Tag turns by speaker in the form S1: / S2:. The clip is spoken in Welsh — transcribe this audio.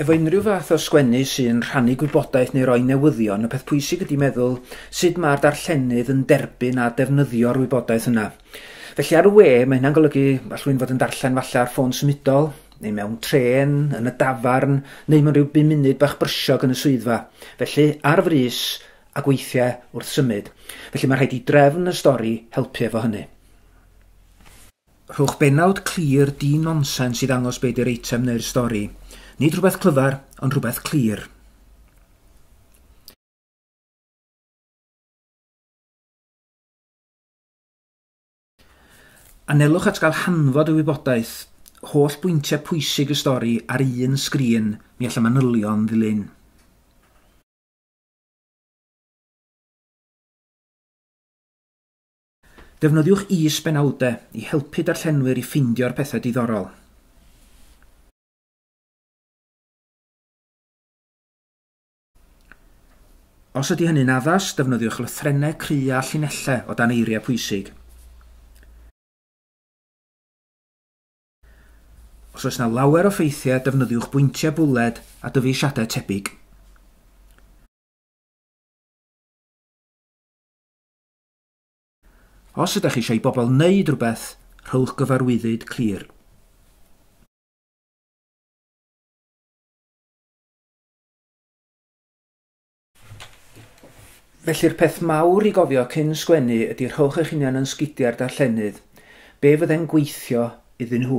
S1: Efo unrhyw fath o sgwennu sy'n rhannu gwybodaeth neu roi newyddion, y peth pwysig ydy meddwl sut mae'r darllenydd yn derbyn a defnyddio'r wybodaeth yna. Felly ar y we, mae hynna'n golygu all rhywun fod yn darllen falle ar ffôn symudol, neu mewn trên, yn y dafarn, neu mewn rhyw 5 munud bach brysiog yn y swyddfa. Felly, ar frys ac weithiau wrth symud. Felly mae rhaid i drefn y stori helpu efo hynny. Rhowch bennawd clir di-nonsens i ddangos be di'r eitem neu'r stori. Nid rhywbeth clyfar, ond rhywbeth clir. Anelwch at gael hanfod y wybodaeth, holl bwyntiau pwysig y stori ar un sgrin, mi all y manylion ddilyn. Defnyddiwch is-benawdau i helpu darllenwyr i ffeindio'r pethau diddorol. Os ydy hynny'n addas, defnyddiwch lythrennau cry a llinellau o dan eiriau pwysig. Os oes yna lawer o ffeithiau, defnyddiwch bwyntiau bwled a dyfeisiadau tebyg. Os ydych chi eisiau i bobl wneud rhywbeth, rhowch gyfarwyddyd clir. Felly'r peth mawr i gofio cyn sgwennu ydy rhowch eich hunan yn sgidiau'r darllenydd. Be fydde'n gweithio iddyn nhw?